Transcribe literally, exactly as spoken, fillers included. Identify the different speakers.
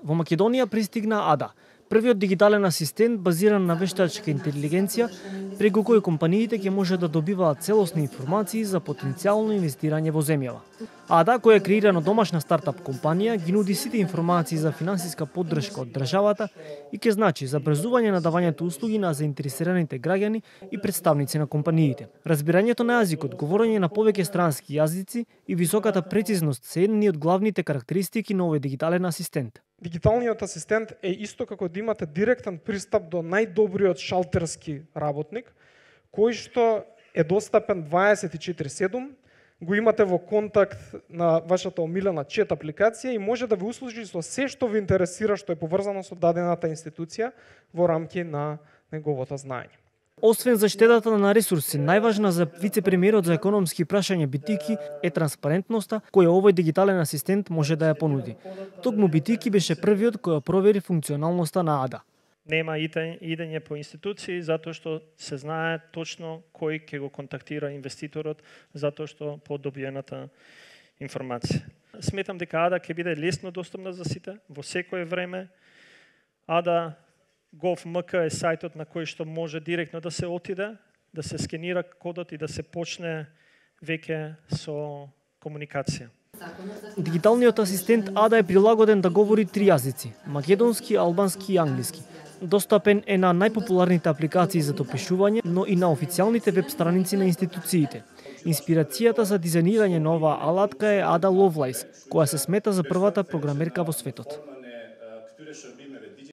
Speaker 1: Во Македонија пристигна Ада, првиот дигитален асистент базиран на вештачка интелигенција, преку кој компаниите ќе може да добиваат целосни информации за потенцијално инвестирање во земјава. Ада, која е креирана домашна стартап компанија, ги нуди сите информации за финансиска поддршка од државата и ќе значи забрзување на давањето услуги на заинтересираните граѓани и представници на компаниите. Разбирањето на јазикот, говорење на повеќе странски јазици и високата прецизност се едни од главните карактеристики на овој дигитален асистент.
Speaker 2: Дигиталниот асистент е исто како да имате директен пристап до најдобриот шалтерски работник, кој што е достапен дваесет и четири седум, го имате во контакт на вашата омилена чет апликација и може да ви услужи со се што ви интересира што е поврзано со дадената институција во рамки на неговото знаење.
Speaker 1: Освен заштедата на ресурси, најважна за вице-премиерот за економски прашања Битики е транспарентноста која овој дигитален асистент може да ја понуди. Токму Битики беше првиот кој провери функционалноста на Ада.
Speaker 3: Нема идење по институции затоа што се знае точно кој ќе го контактира инвеститорот затоа што по добиената информација. Сметам дека Ада ќе биде лесно достапна за сите во секое време. Ада Gov.mk е сајтот на кој што може директно да се отиде, да се скенира кодот и да се почне веќе со комуникација.
Speaker 1: Дигиталниот асистент Ада е прилагоден да говори три јазици: македонски, албански и англиски. Достапен е на најпопуларните апликации за допишување, но и на официјалните веб страници на институциите. Инспирацијата за дизајнирање на оваа алатка е Ада Ловлајс, која се смета за првата програмерка во светот.